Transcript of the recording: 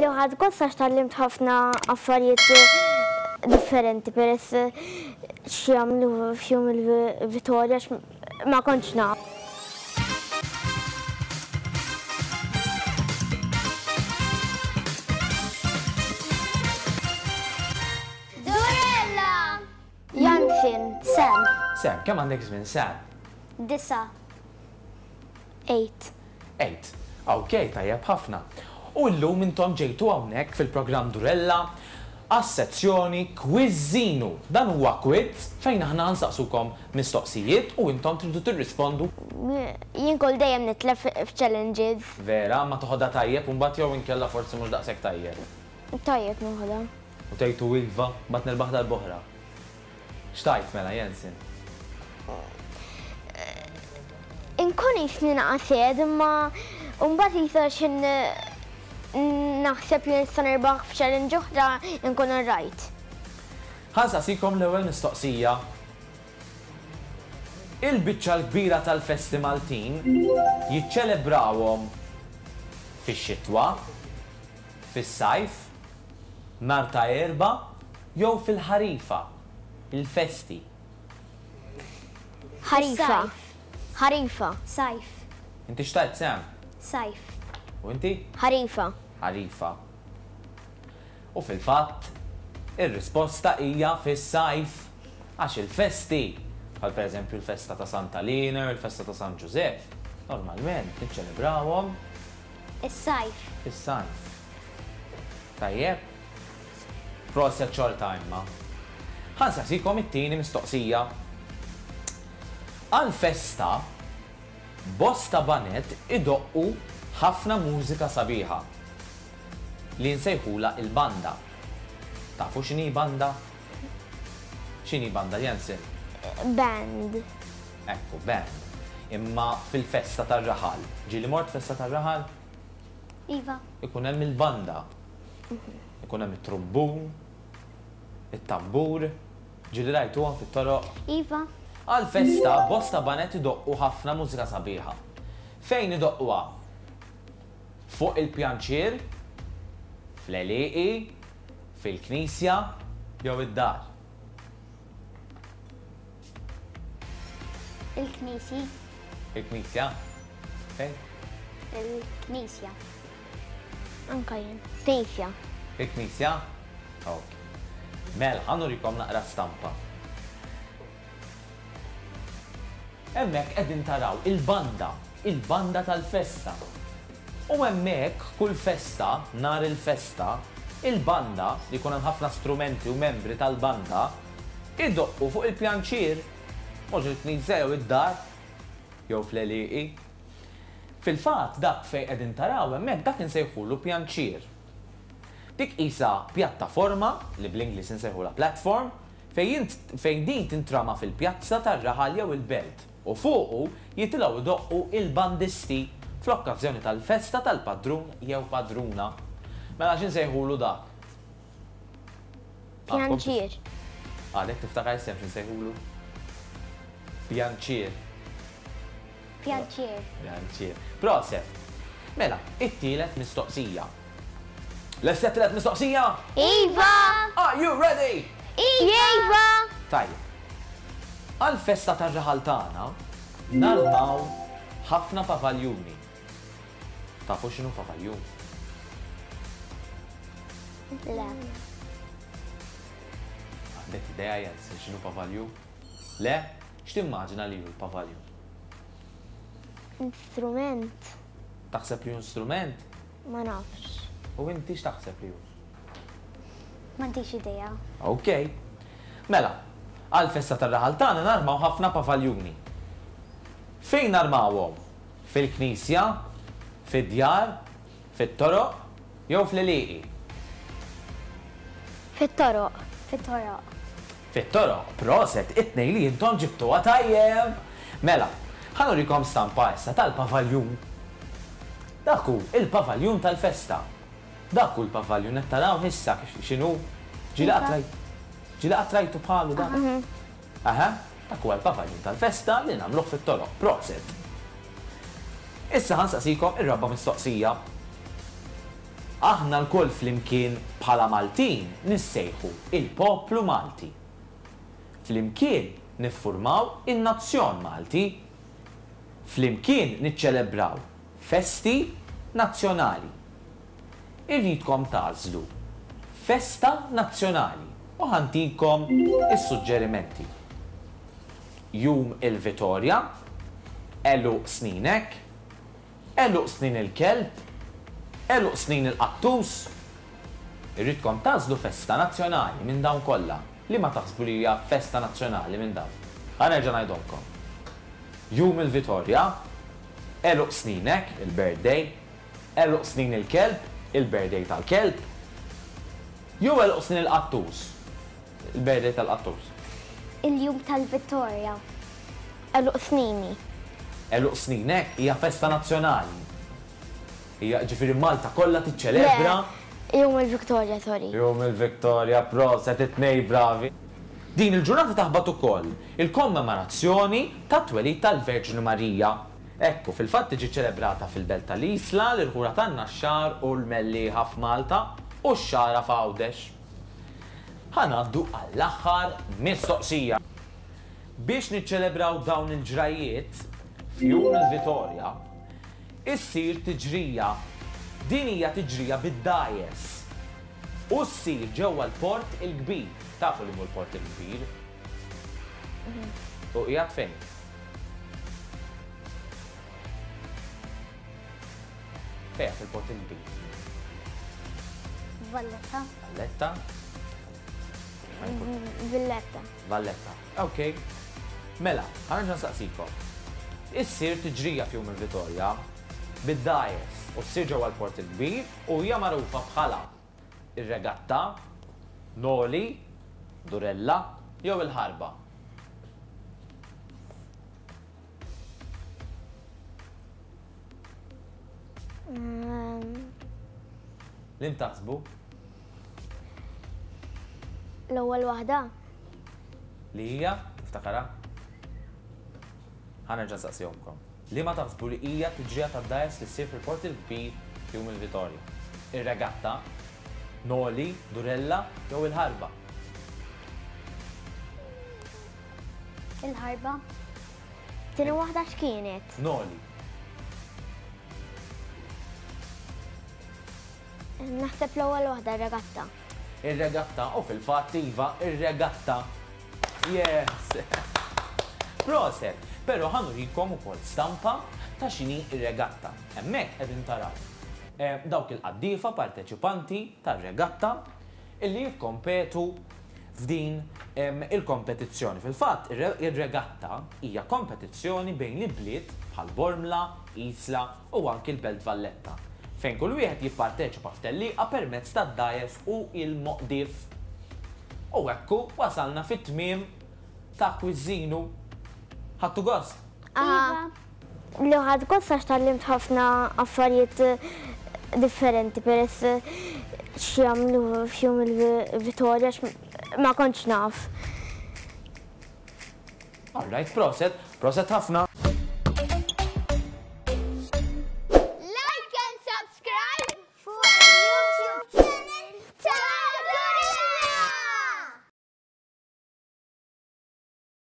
Kelli ħadt gost għax tgħallimt ħafna affarijiet differenti peress x'jagħmlu f'jum il-Vitorja għax ma kontx naf. Durella! Jansen, Sam. Sam, kemm għandek żmien Sam? Disa'. Eight. Eight. Ok, tajjeb ħafna. U llum intom ġejtu hawnhekk fil-programm Durella għas-sezzjoni Kwiżżinu. Dan huwa quiz fejn aħna nsaqsukom mistoqsijiet u intom tridu tirrispondu. Jien kull dejjem nitlef f'challenges. Vera, ma toħodha tajjeb u mbagħad jew inkella forsi mhux daqshekk tajjeb? Tajjeb noħodha. U tgħidu iva, mbagħad nirbaħ darb'oħra. X'tgħid mela, Jensen? Inkun qisni naqa' sed imma mbagħad qisha x'in naħseb li nista' nirbaħ f'challenge oħra nkun alright. Ħa nsaqsikom l-ewwel mistoqsija. Il-biċċa l-kbira tal-festi Maltin jiċċelebrawhom fix-xitwa, fis-sajf, nhar ta' Erbgħa jew fil-ħarifa, il-festi. Ħarifa. Ħarifa. Sajf. Inti x'tgħid Sam? Sajf. U inti? Ħarifa. Ħarifa. U fil-fatt, ir-risposta hija fis-sajf. Għax il-festi, bħal pereżempju l-festa ta' Santa Liena jew il-festa ta' San Ġużepp, normalment niċċelebrawhom Is-sajf. Fis-sajf. Tajjeb. Proset xorta imma. Ħa nsaqsikom it-tieni mistoqsija. Għall-festa, bosta baned idoqqu ħafna mużika sabiħa li nsejħulha il-banda. Tafu x'inhi banda? X'inhi banda, Jensen? Band. Ekku, band. Imma fil-festa tar-raħal. Ġieli mort festa tar-raħal? Iva. Ikun hemm il-banda. Ikun hemm it-trumbun, it-tambur. Ġieli rajtuhom fit-toroq? Iva. Għall-festa, bosta baned idoqqu ħafna mużika sabiħa. Fejn idoqquha? Fuq il-pjanċier, fl-għelieqi, fil-knisja jew id-dar? Il-knisji. Il-knisja? Fejn? Il-knisja. Anka jien. Knisja. Il-knisja? Ok. Mela, ħa nurikom naqra stampa. Hemmhekk qegħdin taraw il-banda, il-banda tal-festa. U hemmhekk kull festa, nhar il-festa, il-banda, li jkun hemm ħafna strumenti u membri tal-banda, Idoqqu fuq il-pjanċier, mhux il-knisja jew id-dar, jew fl-għelieqi. Fil-fatt, dak fejn qegħdin taraw hemmhekk dak insejħulu pjanċier. Dik qisha pjattaforma, li bl-Ingliż insejħulha platform, fejn fejn din tintrama fil-pjazza tar-raħal jew il-belt u fuqu jitilgħu jdoqqu il-bandisti fl-okkażjoni tal-festa tal-padrun jew padruna. Mela x'insejħulu dak? Pjanċier. Għadek tiftakar isem x'insejħulu? Pjanċier. Pjanċier. Pjanċier. Proset. Mela, it-tielet mistoqsija. Lesti għat-tielet mistoqsija? Iva! Are you ready? Iva! Tajjeb. Għal-festa tar-raħal tagħna narmaw ħafna pavaljuni. Tafu x'inhu pavaljun? Le. Għandek idea Jens x'inhu pavaljun? Le? X'timmaġina li hu l-pavaljun? Instrument. Taħseb li hu instrument? Ma nafx. U inti x'taħseb li hu? M'għandix idea. Ok. Mela, għall-festa tar-raħal tagħna narmaw ħafna pavaljuni. Fejn narmawhom? Fil-knisja, fid-djar, fit-toroq jew fl-għelieqi? Fit-toroq. Fit-toroq. Fit-toroq, proset, it-tnejn li intom ġibtuha tajjeb! Mela, ħa nurikom stampa issa tal-pavaljun. Dak hu il-pavaljun tal-festa. Dak hu l-pavaljun, qed tarawh issa x'inhu? Ġieli qatt rajt, ġieli qatt rajtu bħalu dak? Aha, dak huwa l-pavaljun tal-festa li nagħmluh fit-toroq. Proset! Issa ħa nsaqsikom ir-raba' mistoqsija. Aħna lkoll flimkien bħala Maltin nissejħu il-poplu Malti. Flimkien niffurmaw in-nazzjon Malti. Flimkien niċċelebraw festi nazzjonali. Irridkom tagħżlu festa nazzjonali u ħa ntikom is-suġġerimenti. Jum il-Vitorja, Għeluq sninek, Għeluq snin il-kelb, Għeluq snin il-qattus. Irridkom tagħżlu festa nazzjonali minn dawn kollha. Liema taħsbu li hija festa nazzjonali minn dawn? Ħa nerġa' ngħidhomlkom. Jum il-Vitorja, Għeluq sninek, il-birthday, Għeluq snin il-kelb, il-birthday tal-kelb, jew għeluq snin il-qattus, il-birthday tal-qattus. Il-jum tal-Vittorja. Għeluq snini. Għeluq sninek hija festa nazzjonali. Hija, ġifieri Malta kollha tiċċelebra. Le, jum il-Victoria, sorry. Jum il-Victoria, proset, it-tnejn bravi. Din il-ġurnata taħbat ukoll il-kommemorazzjoni tat-twelid tal-Verġni Marija. Hekk hu, fil-fatt tiġi ċċelebrata fil-belt tal-Isla, l-irħula tan-Naxxar u l-Mellieħa f'Malta u x-Xagħra f'Għawdex. Ħa ngħaddu għall-aħħar mistoqsija. Biex niċċelebraw dawn il-ġrajjiet, f'Jum il-Vitorja, issir tiġrija. Din hija tiġrija bid-dgħajjes u ssir ġewwa l-Port il-Kbir. Tafu li mhu l-Port il-Kbir? U qiegħed fejn? Fejn fil-Port il-Kbir? Valletta. Valletta. Valletta. Valletta. Ok. Mela, ħa nerġa' nsaqsikom. Issir tiġrija f'Jum il-Vitorja bid-dgħajjes u ssir ġewwa l-Port il-Kbir u hija magħrufa bħala ir-regatta, Noli, Durella jew il-ħarba. Liem taħsbu? L-ewwel waħda. Li hija, tiftakarha? Ħa nerġa' nsaqsihomkom. Liema taħsbu li hija t-tiġrija tad-dgħajjes li ssir fil-Port il-Kbir f'Jum il-Vitorja? Ir-regatta, Noli, Durella jew il-ħarba? Il-ħarba. Tieni waħda x'kienet? Noli. Naħseb l-ewwel waħda ir-regatta. Ir-regatta, u fil-fatt iva, ir-regatta. Yes! Proset! Però ħa nurikom ukoll stampa ta' x'inhi r-regatta. Hemmhekk qegħdin taraw dawk il-qaddiefa parteċipanti tar-regatta illi jikkompetu f'din il-kompetizzjoni. Fil-fatt, ir-regatta hija kompetizzjoni bejn l-ibliet bħal Bormla, Isla u anki l-Belt Valletta, fejn kull wieħed jipparteċipa f'tellieqa permezz tad-dgħajjes u l-moqdief. U hekk hu, wasalna fit-tmiem ta' Kwiżżinu. Ħadtu gost? Iva. Li ħadt gost għax tgħallimt ħafna affarijiet differenti peress x'jagħmlu f'jum il-Vitorja għax ma kontx naf. All right, proset, proset ħafna.